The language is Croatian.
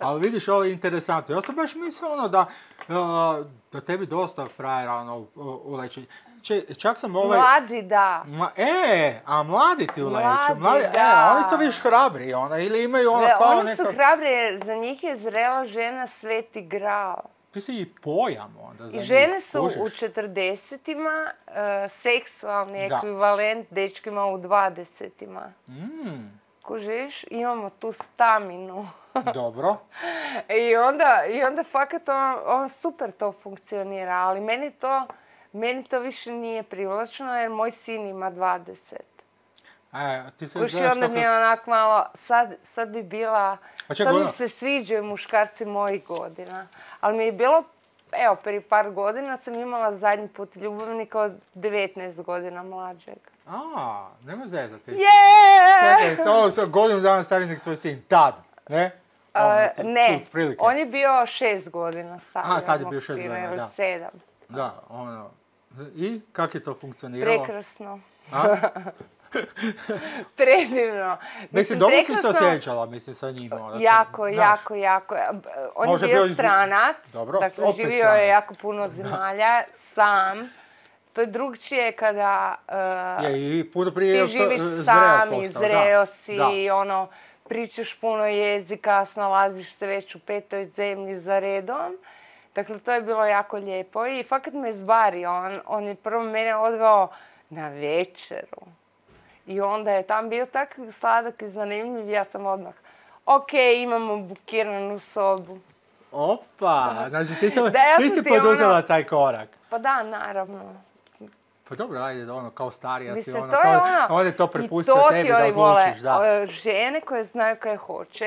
Ali vidiš, ovo je interesantno. Ja sam baš mislio da tebi dosta frajera uleće. Čak sam Mlađi, da. A mladi ti uleću. Mlađi, da. Oni su više hrabri, ili imaju kao Oni su hrabri, za njih je zrela žena sveti gral. Ti si i pojam onda za njih. I žene su u 40-ima seksualni ekvivalent dečkima u 20-ima. Kužiš, imamo tu staminu. Dobro. I onda fakat on super to funkcionira, ali meni to više nije privlačno jer moj sin ima 20. Kuži, onda mi je onak malo, sad bi bila, sad mi se sviđaju muškarci mojih godina. Ali mi je bilo, evo, prije par godina sam imala zadnji put ljubavnika od 19 godina mlađeg. Nema zezati. Jeee! Čekaj, ovo sam godinu dana stariji nek tvoj sin, tad, ne? Ne, on je bio 6 godina stariji. Tad je bio 6 godina, da. 7. Da, I kak je to funkcioniralo? Prekrasno. Predivno. Mislim, dobro si se osjećala, sa njim. Jako. On je bio stranac, dakle živio je jako puno zemalja, sam. To je drugčije kada ti živiš sam i zreo si, pričaš puno jezika, snalaziš se već u 5. zemlji za redom. Dakle, to je bilo jako lijepo i fakat me zbario. On je prvo mene odveo na večeru. I onda je tam bio tak sladak i zanimljiv. Ja sam odmah, imamo bukiranu sobu. Opa, znači ti si poduzela taj korak. Pa da, naravno. Pa dobro, ajde, kao starija si, Mislim, to je onda to prepustio tebi da odlučiš, da. Žene koje znaju kaj hoće.